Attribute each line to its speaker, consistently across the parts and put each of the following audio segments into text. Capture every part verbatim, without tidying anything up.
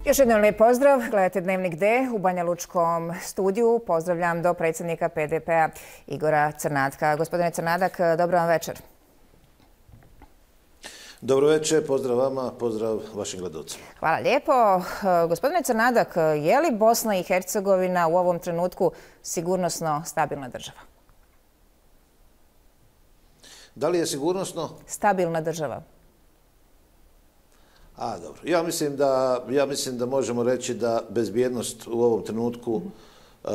Speaker 1: Još jednom lijep pozdrav. Gledajte Dnevnik D u Banja Lučkom studiju. Pozdravljam do predsjednika P D P-a Igora Crnatka. Gospodine Crnadak, dobro vam večer.
Speaker 2: Dobro večer, pozdrav vama, pozdrav vašim gledalcima.
Speaker 1: Hvala lijepo. Gospodine Crnadak, je li Bosna i Hercegovina u ovom trenutku sigurnosno stabilna država?
Speaker 2: Da li je sigurnosno?
Speaker 1: Stabilna država.
Speaker 2: A, dobro. Ja mislim da, ja mislim da možemo reći da bezbjednost u ovom trenutku uh,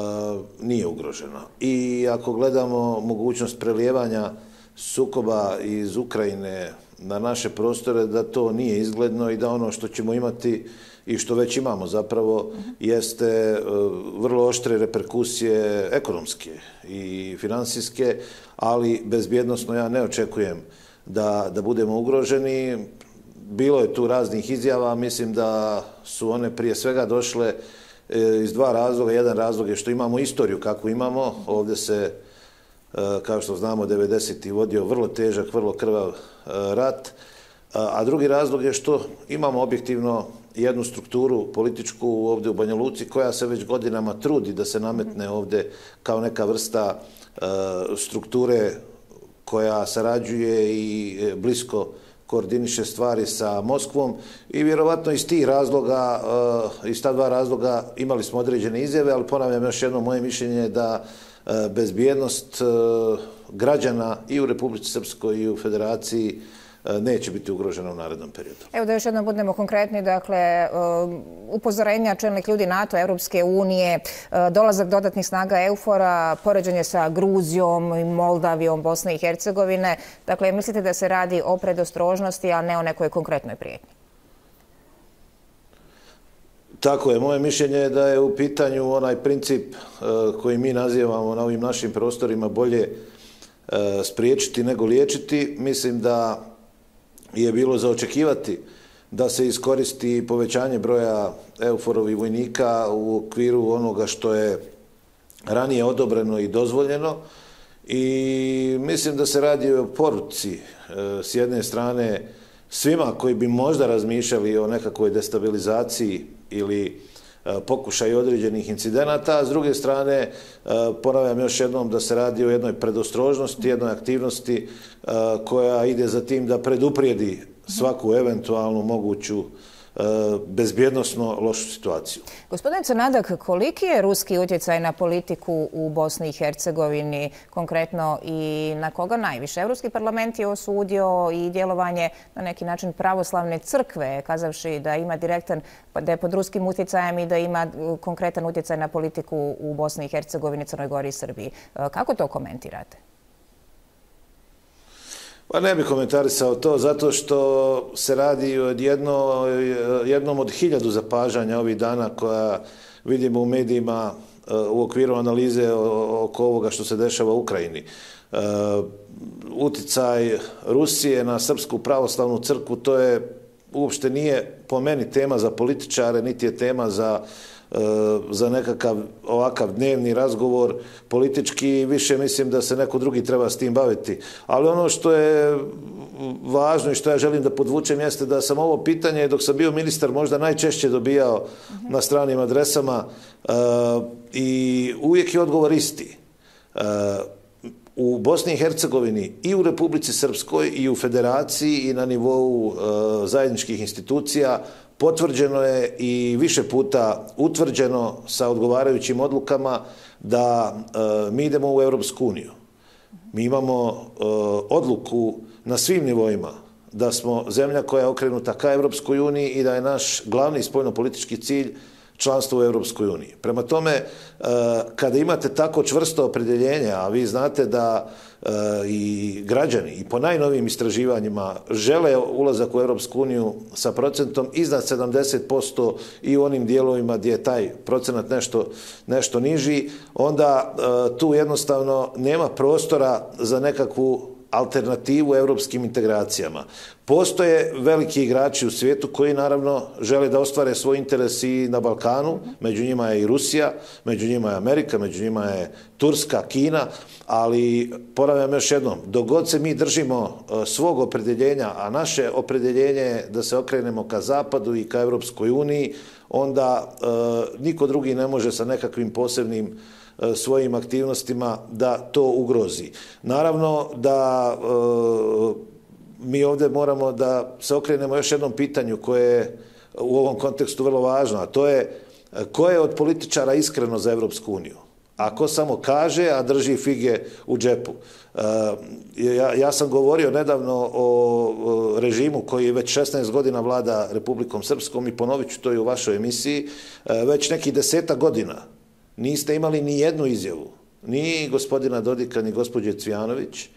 Speaker 2: nije ugrožena. I ako gledamo mogućnost prelijevanja sukoba iz Ukrajine na naše prostore, da to nije izgledno i da ono što ćemo imati i što već imamo zapravo jeste uh, vrlo oštre reperkusije ekonomske i financijske, ali bezbjednosno ja ne očekujem da, da budemo ugroženi. Bilo je tu raznih izjava, mislim da su one prije svega došle iz dva razloga. Jedan razlog je što imamo istoriju kakvu imamo. Ovdje se, kao što znamo, devedesetih vodio vrlo težak, vrlo krvav rat. A drugi razlog je što imamo objektivno jednu strukturu političku ovdje u Banja Luci koja se već godinama trudi da se nametne ovdje kao neka vrsta strukture koja sarađuje i blisko koordiniše stvari sa Moskvom i vjerovatno iz tih razloga, iz ta dva razloga imali smo određene izjave, ali ponavljam još jedno, moje mišljenje je da bezbjednost građana i u Republici Srpskoj i u Federaciji neće biti ugrožena u narednom periodu.
Speaker 1: Evo da još jednom budemo konkretni, dakle, upozorenja čelnih ljudi NATO, Europske unije, dolazak dodatnih snaga EUFOR-a, poređenje sa Gruzijom, Moldavijom, Bosne i Hercegovine. Dakle, mislite da se radi o predostrožnosti, a ne o nekoj konkretnoj prijetnji?
Speaker 2: Tako je. Moje mišljenje je da je u pitanju onaj princip koji mi nazivamo na ovim našim prostorima bolje spriječiti nego liječiti. Mislim da je bilo za očekivati da se iskoristi povećanje broja EUFOR-ovih vojnika u okviru onoga što je ranije odobreno i dozvoljeno. I mislim da se radi o poruci s jedne strane svima koji bi možda razmišljali o nekakvoj destabilizaciji ili pokušaj određenih incidenata, a s druge strane ponavljam još jednom da se radi o jednoj predostrožnosti, jednoj aktivnosti koja ide za tim da preduprijedi svaku eventualnu moguću bezbjednosno lošu situaciju.
Speaker 1: Gospodine Crnadak, koliki je ruski utjecaj na politiku u Bosni i Hercegovini, konkretno i na koga najviše? Evropski parlament je osudio i djelovanje na neki način pravoslavne crkve, kazavši da ima direktan, da je pod ruskim utjecajem i da ima konkretan utjecaj na politiku u Bosni i Hercegovini, Crnoj Gori i Srbiji. Kako to komentirate?
Speaker 2: Pa ne bih komentarisao to zato što se radi o jedno, jednom od hiljadu zapažanja ovih dana koja vidimo u medijima u okviru analize oko ovoga što se dešava u Ukrajini. Uticaj Rusije na Srpsku pravoslavnu crkvu, to je uopšte nije po meni tema za političare, niti je tema za za nekakav ovakav dnevni razgovor politički, više mislim da se neko drugi treba s tim baviti. Ali ono što je važno i što ja želim da podvučem jeste da sam ovo pitanje, dok sam bio ministar, možda najčešće dobijao na stranim adresama i uvijek je odgovor isti. U Bosni i Hercegovini i u Republici Srpskoj i u Federaciji i na nivou zajedničkih institucija potvrđeno je i više puta utvrđeno sa odgovarajućim odlukama da e, mi idemo u Europsku uniju. Mi imamo e, odluku na svim nivoima da smo zemlja koja je okrenuta ka Europskoj uniji i da je naš glavni spoljnopolitički cilj članstvo u Europskoj uniji. Prema tome, e, kada imate tako čvrsto opredjeljenje, a vi znate da e, i građani i po najnovijim istraživanjima žele ulazak u Europsku uniju sa procentom iznad sedamdeset posto i u onim dijelovima gdje je taj procenat nešto, nešto niži, onda e, tu jednostavno nema prostora za nekakvu alternativu europskim integracijama. Postoje veliki igrači u svijetu koji naravno žele da ostvare svoj interes i na Balkanu, među njima je i Rusija, među njima je Amerika, među njima je Turska, Kina, ali ponavljam još jednom, dok god se mi držimo svog opredjeljenja, a naše opredjeljenje je da se okrenemo ka Zapadu i ka Europskoj uniji, onda e, niko drugi ne može sa nekakvim posebnim e, svojim aktivnostima da to ugrozi. Naravno da e, mi ovdje moramo da se okrenemo još jednom pitanju koje je u ovom kontekstu vrlo važno, a to je ko je od političara iskreno za Europsku uniju? A ko samo kaže, a drži fige u džepu? Ja, ja sam govorio nedavno o režimu koji već šesnaest godina vlada Republikom Srpskom i ponovit ću to i u vašoj emisiji, već nekih desetak godina niste imali ni jednu izjavu, ni gospodina Dodika, ni gospođe Cvijanović,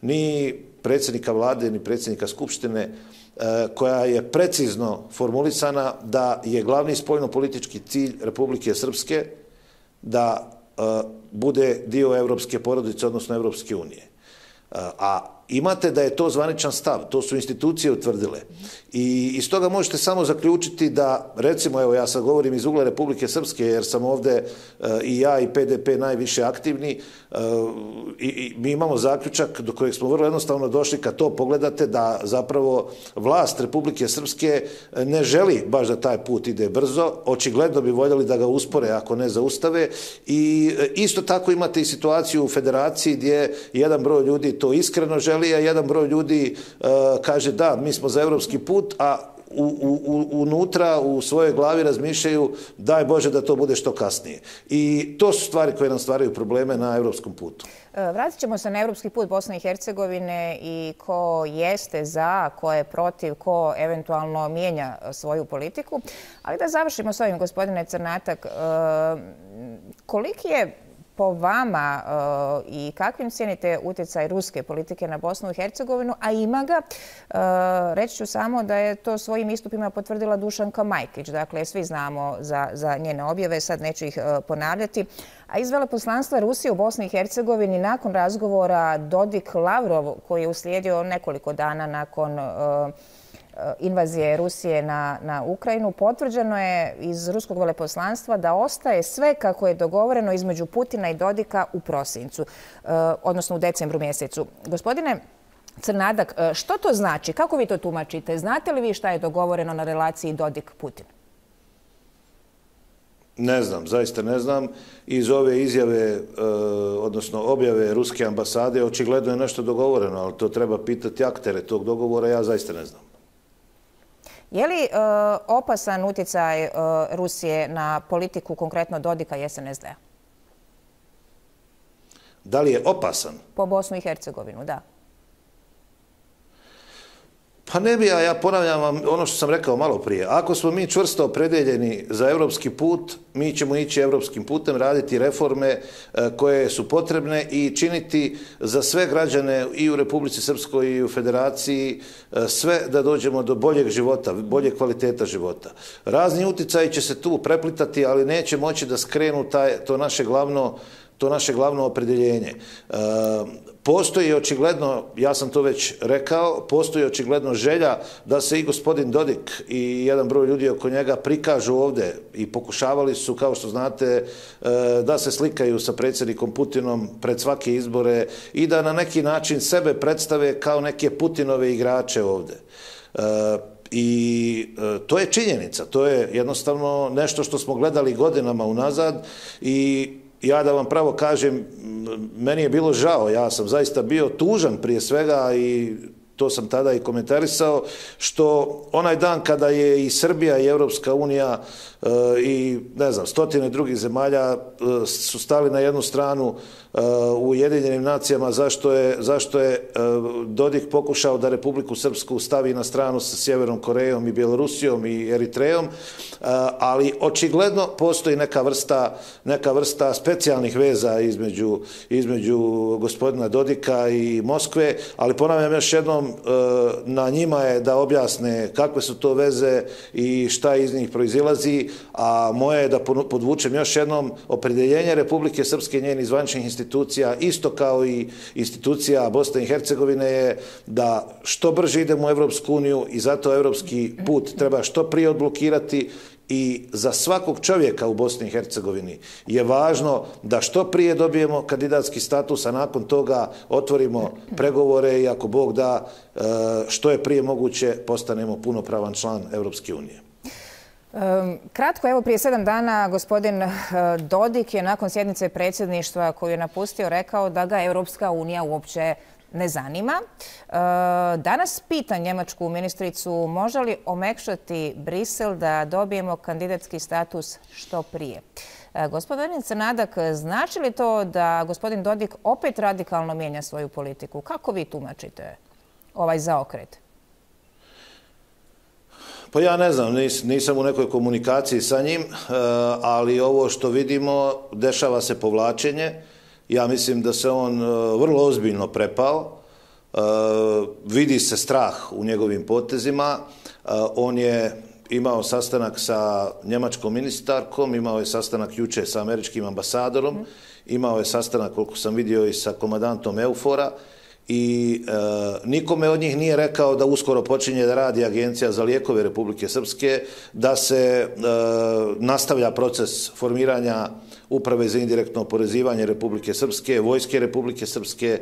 Speaker 2: ni predsjednika vlade, ni predsjednika Skupštine, koja je precizno formulisana da je glavni spoljno-politički cilj Republike Srpske da bude dio evropske porodice, odnosno Evropske unije. A imate da je to zvaničan stav, to su institucije utvrdile. I iz toga možete samo zaključiti da, recimo, evo ja sad govorim iz ugla Republike Srpske, jer sam ovdje i ja i P D P najviše aktivni, i mi imamo zaključak do kojeg smo vrlo jednostavno došli kad to pogledate, da zapravo vlast Republike Srpske ne želi baš da taj put ide brzo, očigledno bi voljeli da ga uspore ako ne zaustave, i isto tako imate i situaciju u federaciji gdje jedan broj ljudi to iskreno želi, a jedan broj ljudi uh, kaže da, mi smo za evropski put, a u, u, unutra u svojoj glavi razmišljaju daj Bože da to bude što kasnije. I to su stvari koje nam stvaraju probleme na evropskom putu.
Speaker 1: Vratit ćemo se na evropski put Bosne i Hercegovine i ko jeste za, ko je protiv, ko eventualno mijenja svoju politiku. Ali da završimo s ovim, gospodine Crnatak, koliki je po vama uh, i kakvim cijenite utjecaj ruske politike na Bosnu i Hercegovinu, a ima ga, uh, reći ću samo da je to svojim istupima potvrdila Dušanka Majkić. Dakle, svi znamo za, za njene objave, sad neću ih uh, ponavljati. A iz veleposlanstva Rusije u Bosni i Hercegovini nakon razgovora Dodik-Lavrov, koji je uslijedio nekoliko dana nakon uh, invazije Rusije na, na Ukrajinu, potvrđeno je iz ruskog veleposlanstva da ostaje sve kako je dogovoreno između Putina i Dodika u prosincu, odnosno u decembru mjesecu. Gospodine Crnadak, što to znači? Kako vi to tumačite? Znate li vi šta je dogovoreno na relaciji Dodik-Putin?
Speaker 2: Ne znam, zaista ne znam. Iz ove izjave, odnosno objave ruske ambasade, očigledno je nešto dogovoreno, ali to treba pitati aktere tog dogovora, ja zaista ne znam.
Speaker 1: Je li uh, opasan utjecaj uh, Rusije na politiku, konkretno Dodika i S N S D-a?
Speaker 2: Da li je opasan?
Speaker 1: Po Bosnu i Hercegovinu, da.
Speaker 2: Pa ne bi ja, ja ponavljam vam ono što sam rekao malo prije. Ako smo mi čvrsto opredeljeni za evropski put, mi ćemo ići evropskim putem, raditi reforme koje su potrebne i činiti za sve građane i u Republici Srpskoj i u Federaciji sve da dođemo do boljeg života, boljeg kvaliteta života. Razni utjecaji će se tu preplitati, ali neće moći da skrenu taj, to naše glavno to naše glavno opredeljenje. E, postoji očigledno, ja sam to već rekao, postoji očigledno želja da se i gospodin Dodik i jedan broj ljudi oko njega prikažu ovdje i pokušavali su, kao što znate, e, da se slikaju sa predsjednikom Putinom pred svake izbore i da na neki način sebe predstave kao neke Putinove igrače ovdje. E, I e, to je činjenica, to je jednostavno nešto što smo gledali godinama unazad i ja da vam pravo kažem, meni je bilo žao, ja sam zaista bio tužan prije svega i to sam tada i komentarisao, što onaj dan kada je i Srbija i Evropska unija e, i ne znam, stotine drugih zemalja e, su stali na jednu stranu e, u Ujedinjenim nacijama zašto je, zašto je e, Dodik pokušao da Republiku Srpsku stavi na stranu sa Sjevernom Korejom i Bjelorusijom i Eritrejom, e, ali očigledno postoji neka vrsta, neka vrsta specijalnih veza između, između gospodina Dodika i Moskve, ali ponavljam još jednom, na njima je da objasne kakve su to veze i šta iz njih proizilazi, a moje je da podvučem još jednom opredjeljenje Republike Srpske i njenih zvaničnih institucija, isto kao i institucija Bosne i Hercegovine, je da što brže idemo u Evropsku uniju i zato evropski put treba što prije odblokirati. I za svakog čovjeka u Bosni i Hercegovini je važno da što prije dobijemo kandidatski status, a nakon toga otvorimo pregovore i ako Bog da, što je prije moguće postanemo punopravan član Evropske unije.
Speaker 1: Kratko, evo prije sedam dana gospodin Dodik je nakon sjednice predsjedništva koju je napustio rekao da ga Evropska unija uopće ne zanima. Danas pita njemačku ministricu može li omekšati Brisel da dobijemo kandidatski status što prije. Gospodinica Nadak, znači li to da gospodin Dodik opet radikalno mijenja svoju politiku? Kako vi tumačite ovaj zaokret?
Speaker 2: Pa ja ne znam, nisam u nekoj komunikaciji sa njim, ali ovo što vidimo, dešava se povlačenje. Ja mislim da se on vrlo ozbiljno prepao, vidi se strah u njegovim potezima, on je imao sastanak sa njemačkom ministarkom, imao je sastanak juče sa američkim ambasadorom, imao je sastanak, koliko sam vidio, i sa komandantom Eufora i nikome od njih nije rekao da uskoro počinje da radi Agencija za lijekove Republike Srpske, da se nastavlja proces formiranja Uprave za indirektno oporezivanje Republike Srpske, Vojske Republike Srpske,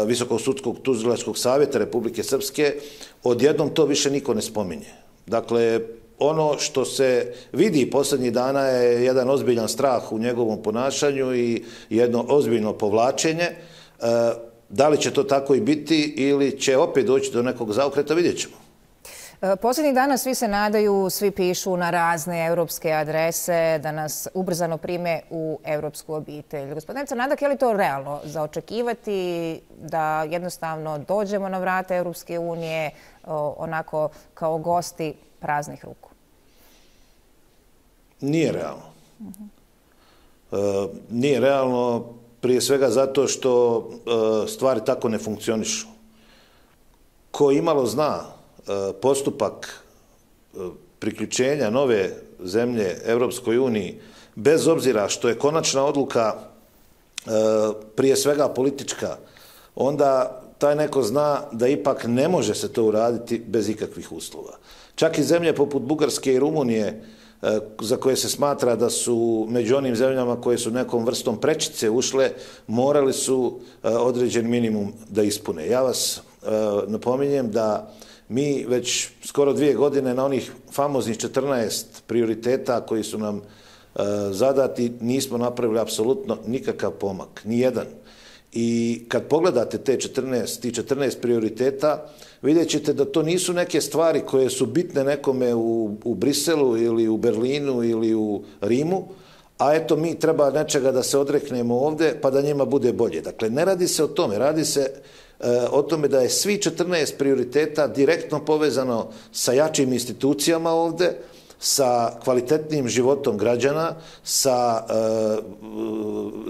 Speaker 2: Visokog sudskog tužilačkog savjeta Republike Srpske. Odjednom to više niko ne spominje. Dakle, ono što se vidi posljednjih dana je jedan ozbiljan strah u njegovom ponašanju i jedno ozbiljno povlačenje. Da li će to tako i biti ili će opet doći do nekog zaokreta, vidjet ćemo.
Speaker 1: Posljednjih dana svi se nadaju, svi pišu na razne europske adrese da nas ubrzano prime u evropsku obitelj. Gospodinica Nadak, je li to realno za očekivati da jednostavno dođemo na vrata Evropske unije onako kao gosti praznih ruku?
Speaker 2: Nije realno. Nije realno prije svega zato što stvari tako ne funkcionišu. Ko imalo zna postupak priključenja nove zemlje Evropskoj uniji, bez obzira što je konačna odluka prije svega politička, onda taj neko zna da ipak ne može se to uraditi bez ikakvih uslova. Čak i zemlje poput Bugarske i Rumunije, za koje se smatra da su među onim zemljama koje su nekom vrstom prečice ušle, morali su određen minimum da ispune. Ja vas napominjem da mi već skoro dvije godine na onih famoznih četrnaest prioriteta koji su nam zadati nismo napravili apsolutno nikakav pomak, ni jedan. I kad pogledate te četrnaest, ti četrnaest prioriteta, vidjet ćete da to nisu neke stvari koje su bitne nekome u, u Briselu ili u Berlinu ili u Rimu, a eto mi treba nečega da se odreknemo ovde pa da njima bude bolje. Dakle, ne radi se o tome, radi se o tome da je svi četrnaest prioriteta direktno povezano sa jačim institucijama ovde, sa kvalitetnim životom građana, sa,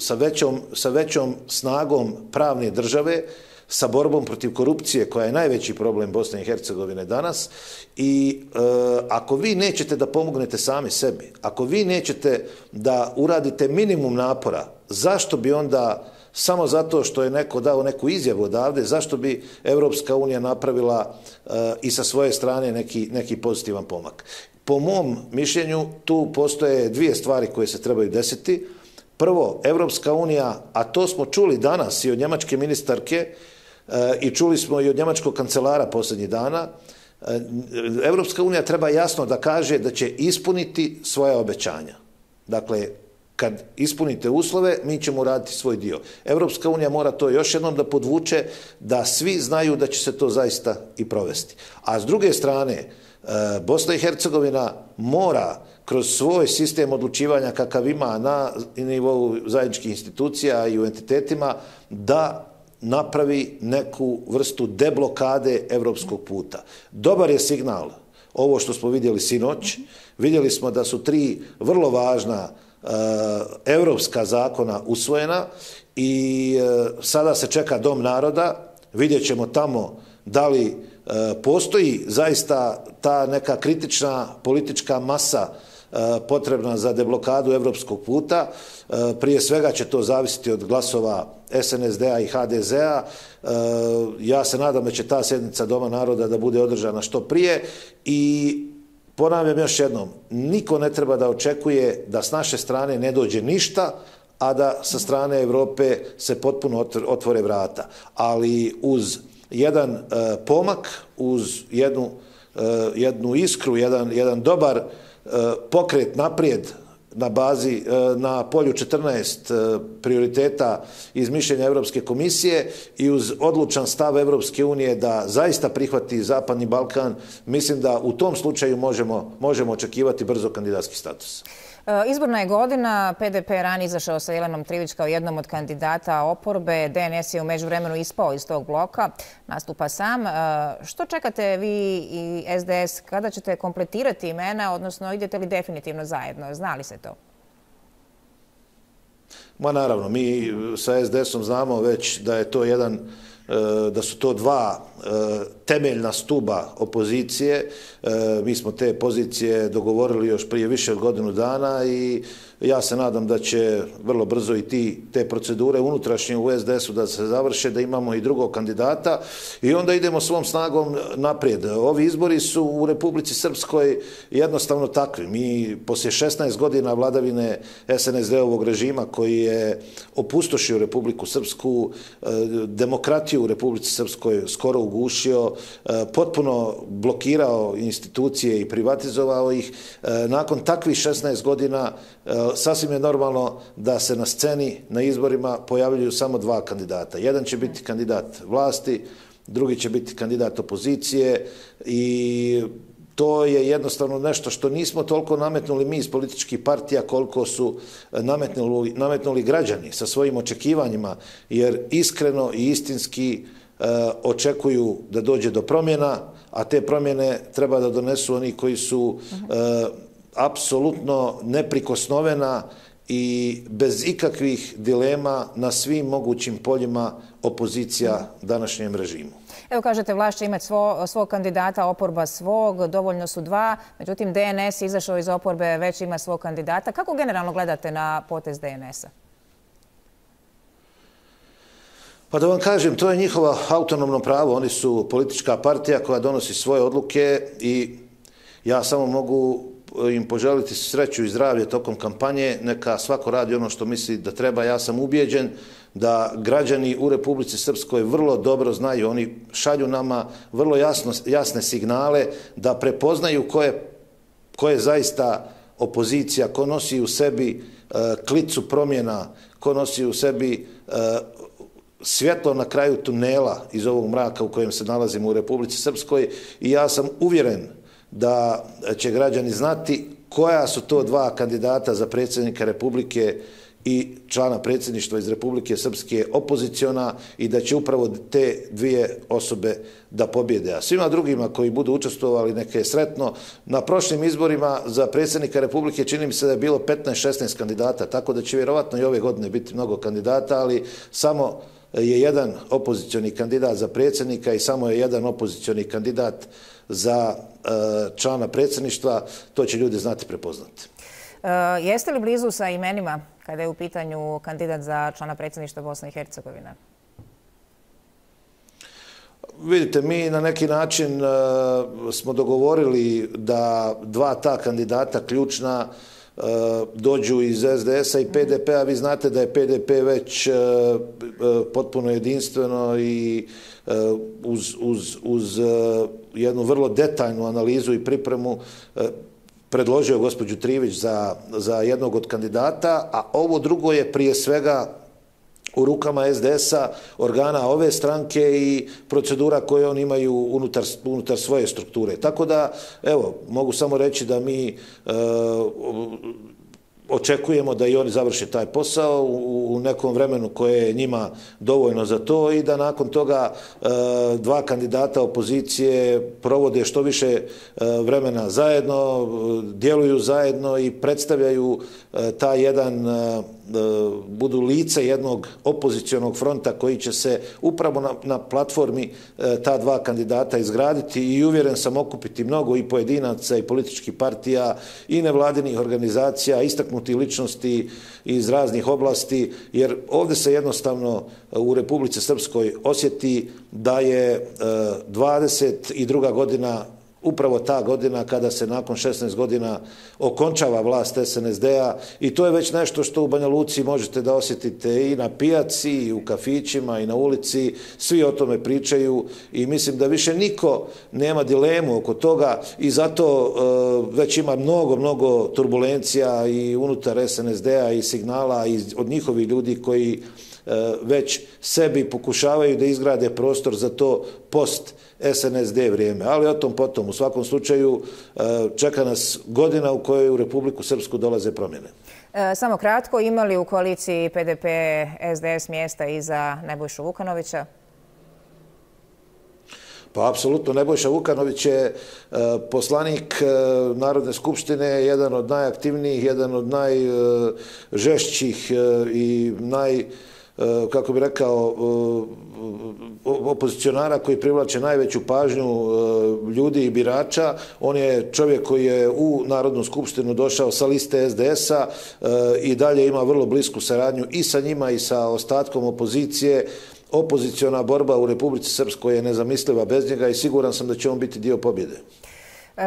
Speaker 2: sa, većom, sa većom snagom pravne države, sa borbom protiv korupcije koja je najveći problem Bosne i Hercegovine danas. I e, ako vi nećete da pomognete sami sebi, ako vi nećete da uradite minimum napora, zašto bi onda, samo zato što je neko dao neku izjavu odavde, zašto bi Evropska unija napravila e, i sa svoje strane neki, neki pozitivan pomak? Po mom mišljenju tu postoje dvije stvari koje se trebaju desiti. Prvo, Evropska unija, a to smo čuli danas i od njemačke ministarke i čuli smo i od njemačkog kancelara posljednjih dana, Evropska unija treba jasno da kaže da će ispuniti svoja obećanja. Dakle, kad ispunite uslove, mi ćemo uraditi svoj dio. Evropska unija mora to još jednom da podvuče, da svi znaju da će se to zaista i provesti. A s druge strane, Bosna i Hercegovina mora kroz svoj sistem odlučivanja kakav ima na nivou zajedničkih institucija i u entitetima da napravi neku vrstu deblokade evropskog puta. Dobar je signal ovo što smo vidjeli sinoć. Vidjeli smo da su tri vrlo važna uh, evropska zakona usvojena i uh, sada se čeka Dom naroda. Vidjet ćemo tamo da li postoji zaista ta neka kritična politička masa potrebna za deblokadu evropskog puta. Prije svega će to zavisiti od glasova S N S D-a i H D Z-a. Ja se nadam da će ta sjednica Doma naroda da bude održana što prije i ponavljam još jednom, niko ne treba da očekuje da s naše strane ne dođe ništa, a da sa strane Evrope se potpuno otvore vrata. Ali uz jedan pomak, uz jednu, jednu iskru, jedan, jedan dobar pokret naprijed na bazi, na polju četrnaest prioriteta iz mišljenja Evropske komisije i uz odlučan stav Evropske unije da zaista prihvati Zapadni Balkan, mislim da u tom slučaju možemo, možemo očekivati brzo kandidatski status.
Speaker 1: Izborna je godina, P D P je ranije izašao sa Jelenom Trivić kao jednom od kandidata oporbe, D N S je u međuvremenu ispao iz tog bloka, nastupa sam. Što čekate vi i S D S, kada ćete kompletirati imena, odnosno idete li definitivno zajedno? Zna li se to?
Speaker 2: Ma naravno, mi sa S D S-om znamo već da je to jedan, da su to dva temeljna stuba opozicije. Mi smo te pozicije dogovorili još prije više od godinu dana i ja se nadam da će vrlo brzo i ti, te procedure unutrašnje u S D S-u da se završe, da imamo i drugog kandidata i onda idemo svom snagom naprijed. Ovi izbori su u Republici Srpskoj jednostavno takvi. Mi poslije šesnaest godina vladavine S N S D-ovog režima koji je opustošio Republiku Srpsku, demokratiju u Republici Srpskoj skoro ugušio, potpuno blokirao institucije i privatizovao ih. Nakon takvih šesnaest godina sasvim je normalno da se na sceni, na izborima pojavljuju samo dva kandidata. Jedan će biti kandidat vlasti, drugi će biti kandidat opozicije i to je jednostavno nešto što nismo toliko nametnuli mi iz političkih partija koliko su nametnuli, nametnuli građani sa svojim očekivanjima, jer iskreno i istinski e, očekuju da dođe do promjena, a te promjene treba da donesu oni koji su e, apsolutno neprikosnovena i bez ikakvih dilema na svim mogućim poljima opozicija današnjem režimu.
Speaker 1: Evo kažete, vlast će imati svo, svog kandidata, oporba svog, dovoljno su dva, međutim D N S izašao iz oporbe, već ima svog kandidata. Kako generalno gledate na potez D N S-a?
Speaker 2: Pa da vam kažem, to je njihovo autonomno pravo. Oni su politička partija koja donosi svoje odluke i ja samo mogu im poželiti sreću i zdravlje tokom kampanje. Neka svako radi ono što misli da treba. Ja sam ubijeđen da građani u Republici Srpskoj vrlo dobro znaju, oni šalju nama vrlo jasno, jasne signale da prepoznaju ko je, ko je zaista opozicija, ko nosi u sebi uh, klicu promjena, ko nosi u sebi uh, svjetlo na kraju tunela iz ovog mraka u kojem se nalazimo u Republici Srpskoj i ja sam uvjeren da će građani znati koja su to dva kandidata za predsjednika Republike i člana predsjedništva iz Republike Srpske opoziciona i da će upravo te dvije osobe da pobjede. A svima drugima koji budu učestvovali neke je sretno. Na prošlim izborima za predsjednika Republike čini mi se da je bilo petnaest šesnaest kandidata, tako da će vjerovatno i ove godine biti mnogo kandidata, ali samo je jedan opozicioni kandidat za predsjednika i samo je jedan opozicioni kandidat za člana predsjedništva. To će ljudi znati prepoznati.
Speaker 1: E, jeste li blizu sa imenima kada je u pitanju kandidat za člana predsjedništva Bosne i Hercegovine?
Speaker 2: Vidite, mi na neki način uh, smo dogovorili da dva ta kandidata ključna uh, dođu iz S D S-a i P D P-a. Vi znate da je P D P već uh, uh, potpuno jedinstveno i uh, uz, uz, uz uh, jednu vrlo detaljnu analizu i pripremu uh, predložio gospođu Trivić za, za jednog od kandidata, a ovo drugo je prije svega u rukama S D S-a, organa ove stranke i procedura koje oni imaju unutar, unutar svoje strukture. Tako da, evo, mogu samo reći da mi e, očekujemo da i oni završe taj posao u, u nekom vremenu koje je njima dovoljno za to i da nakon toga e, dva kandidata opozicije provode što više e, vremena zajedno, djeluju zajedno i predstavljaju e, taj jedan e, budu lice jednog opozicionog fronta koji će se upravo na, na platformi ta dva kandidata izgraditi i uvjeren sam okupiti mnogo i pojedinaca i političkih partija i nevladinih organizacija, istaknutih ličnosti iz raznih oblasti, jer ovdje se jednostavno u Republici Srpskoj osjeti da je dvadeset druga godina upravo ta godina kada se nakon šesnaest godina okončava vlast es en es de-a i to je već nešto što u Banja Luci možete da osjetite i na pijaci, i u kafićima, i na ulici. Svi o tome pričaju i mislim da više niko nema dilemu oko toga i zato uh, već ima mnogo, mnogo turbulencija i unutar es en es de-a i signala i od njihovih ljudi koji već sebi pokušavaju da izgrade prostor za to post es en es de vrijeme. Ali o tom potom. U svakom slučaju čeka nas godina u kojoj u Republiku Srpsku dolaze promjene.
Speaker 1: E, samo kratko, ima li u koaliciji pe de pe es de es mjesta i za Nebojšu Vukanovića?
Speaker 2: Pa, apsolutno, Nebojša Vukanović je e, poslanik e, Narodne skupštine, jedan od najaktivnijih, jedan od najžešćih e, i naj kako bi rekao, opozicionara koji privlače najveću pažnju ljudi i birača. On je čovjek koji je u Narodnu skupštinu došao sa liste es de es-a i dalje ima vrlo blisku saradnju i sa njima i sa ostatkom opozicije. Opoziciona borba u Republici Srpskoj je nezamisliva bez njega i siguran sam da će on biti dio pobjede.
Speaker 1: E,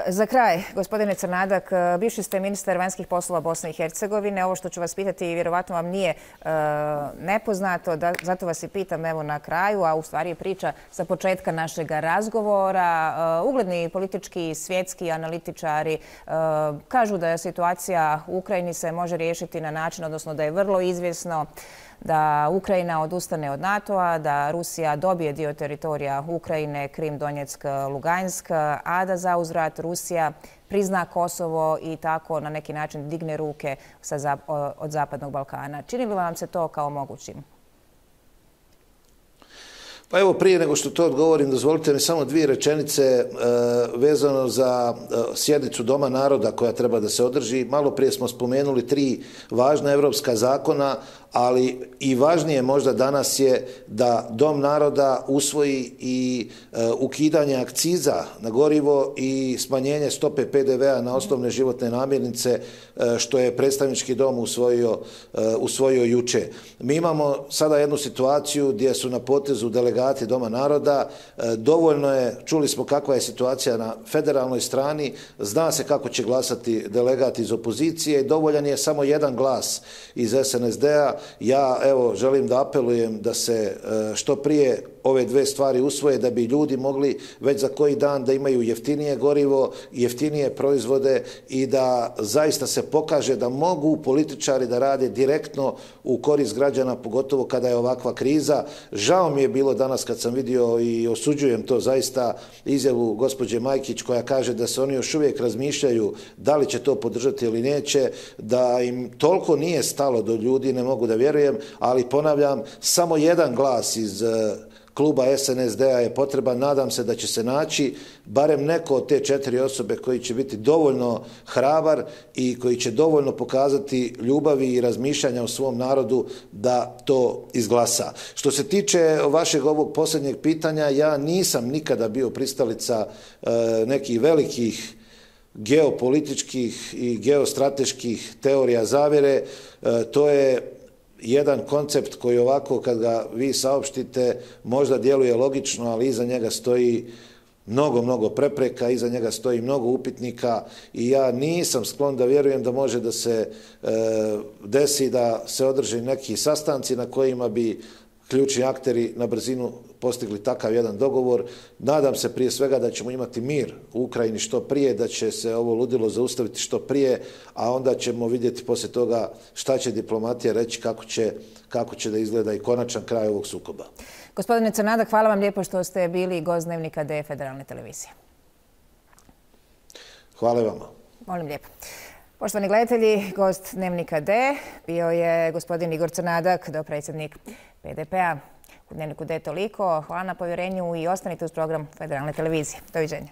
Speaker 1: za kraj, gospodine Crnadak, bivši ste ministar vanjskih poslova Bosne i Hercegovine. Ovo što ću vas pitati vjerovatno vam nije e, nepoznato, da, zato vas i pitam evo na kraju, a u stvari je priča sa početka našeg razgovora. E, ugledni politički svjetski analitičari e, kažu da je situacija u Ukrajini se može riješiti na način, odnosno da je vrlo izvjesno da Ukrajina odustane od NATO-a, da Rusija dobije dio teritorija Ukrajine, Krim, Donjeck, Lugansk, a da za uzvrat Rusija prizna Kosovo i tako na neki način digne ruke sa, od Zapadnog Balkana. Čini li vam se to kao mogućim?
Speaker 2: Pa evo, prije nego što to odgovorim, dozvolite mi samo dvije rečenice e, vezano za e, sjednicu Doma naroda koja treba da se održi. Malo prije smo spomenuli tri važna evropska zakona, ali i važnije možda danas je da Dom naroda usvoji i e, ukidanje akciza na gorivo i smanjenje stope pe de ve-a na osnovne životne namirnice, e, što je predstavnički dom usvojio, e, usvojio juče. Mi imamo sada jednu situaciju gdje su na potezu delegati Doma naroda. E, dovoljno je, čuli smo kakva je situacija na federalnoj strani, zna se kako će glasati delegati iz opozicije, dovoljan je samo jedan glas iz es en es de-a. Ja, evo, želim da apelujem da se što prije ove dve stvari usvoje da bi ljudi mogli već za koji dan da imaju jeftinije gorivo, jeftinije proizvode i da zaista se pokaže da mogu političari da rade direktno u korist građana, pogotovo kada je ovakva kriza. Žao mi je bilo danas kad sam vidio i osuđujem to zaista izjavu gospođe Majkić koja kaže da se oni još uvijek razmišljaju da li će to podržati ili neće, da im toliko nije stalo do ljudi, ne mogu da vjerujem, ali ponavljam, samo jedan glas iz kluba es en es de-a je potreban. Nadam se da će se naći barem neko od te četiri osobe koji će biti dovoljno hrabar i koji će dovoljno pokazati ljubavi i razmišljanja o svom narodu da to izglasa. Što se tiče vašeg ovog posljednjeg pitanja, ja nisam nikada bio pristalica e, nekih velikih geopolitičkih i geostrateških teorija zavjere. E, to je jedan koncept koji ovako kad ga vi saopštite možda djeluje logično, ali iza njega stoji mnogo, mnogo prepreka, iza njega stoji mnogo upitnika i ja nisam sklon da vjerujem da može da se e, desi da se održe neki sastanci na kojima bi ključni akteri na brzinu postigli takav jedan dogovor. Nadam se prije svega da ćemo imati mir u Ukrajini što prije, da će se ovo ludilo zaustaviti što prije, a onda ćemo vidjeti poslije toga šta će diplomatija reći, kako će, kako će da izgleda i konačan kraj ovog sukoba.
Speaker 1: Gospodine Crnadak, hvala vam lijepo što ste bili gost Dnevnika D Federalne televizije.
Speaker 2: Hvala vama.
Speaker 1: Molim lijepo. Poštovani gledatelji, gost Dnevnika D bio je gospodin Igor Crnadak, dopredsjednik pe de pe-a. U Dnevniku D toliko. Hvala na povjerenju i ostanite uz program Federalne televizije. Doviđenja.